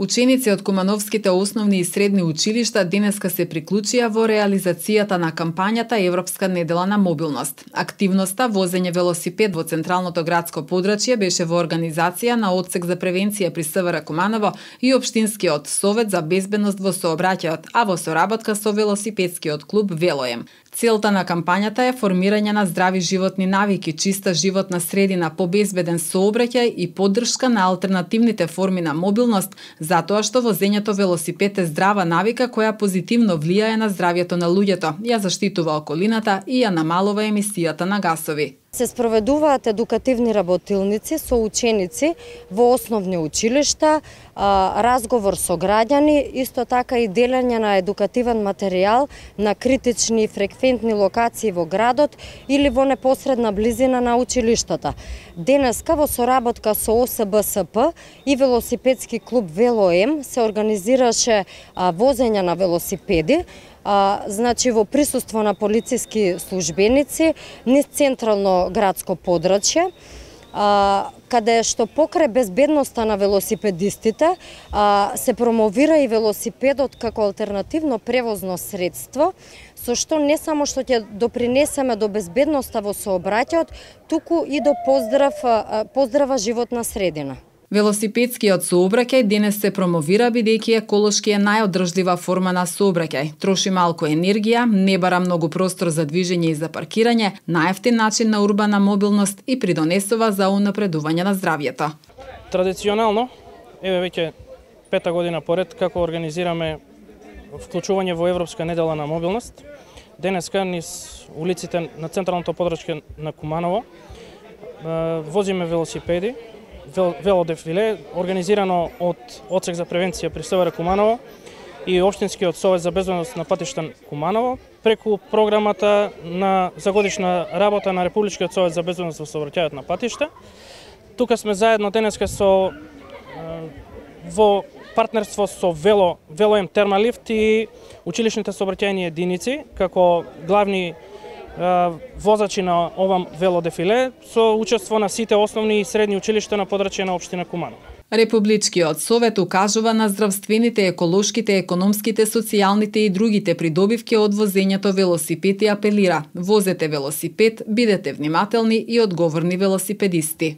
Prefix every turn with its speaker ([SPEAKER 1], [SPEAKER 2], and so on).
[SPEAKER 1] Ученици од кумановските основни и средни училишта денеска се приклучија во реализацијата на кампањата Европска недела на мобилност. Активноста возење велосипед во централното градско подрачје беше во организација на Одсек за превенција при СВР Куманово и Општинскиот совет за безбедност во сообраќајот, а во соработка со велосипедскиот клуб Велоем. Целта на кампањата е формирање на здрави животни навики, чиста животна средина, побезбеден сообраќај и поддршка на алтернативните форми на мобилност, затоа што возењето велосипед е здрава навика која позитивно влијае на здравјето на луѓето, ја заштитува околината и ја намалува емисијата на гасови.
[SPEAKER 2] Се спроведуваат едукативни работилници со ученици во основни училишта, разговор со граѓани, исто така и делење на едукативен материјал на критични и фреквентни локации во градот или во непосредна близина на училиштата. Денеска во соработка со ОСБСП и велосипедски клуб Велоем се организираше возење на велосипеди, значи во присуство на полициски службеници низ централно градско подрачје, каде што покрај безбедноста на велосипедистите се промовира и велосипедот како алтернативно превозно средство, со што не само што ќе допринесеме до безбедноста во сообраќајот, туку и до поздрава животна средина.
[SPEAKER 1] Велосипедскиот сообраќај денес се промовира бидејќи еколошки е најодржлива форма на сообраќај. Троши малку енергија, не бара многу простор за движење и за паркирање, најевтин начин на урбана мобилност и придонесува за унапредување на здравјето.
[SPEAKER 3] Традиционално, еве веќе 5-та година поред како организираме вклучување во Европска недела на мобилност. Денеска низ улиците на централното подрачје на Куманово возиме велосипеди, велодефиле, организирано од Одсек за превенција при СВР Куманово и Општинскиот совет за безбедност на патишта Куманово, преку програмата за годишна работа на Републичкиот совет за безбедност во сообраќајот на патишта. Тука сме заедно денеска во партнерство со Велоем Термалифт и училишните сообраќајни единици како главни возачи на ова велодефиле со учество на сите основни и средни училишта на подрачје на општина Куманово.
[SPEAKER 1] Републичкиот совет укажува на здравствените, еколошките, економските, социјалните и другите придобивки од возењето велосипед и апелира: возете велосипед, бидете внимателни и одговорни велосипедисти.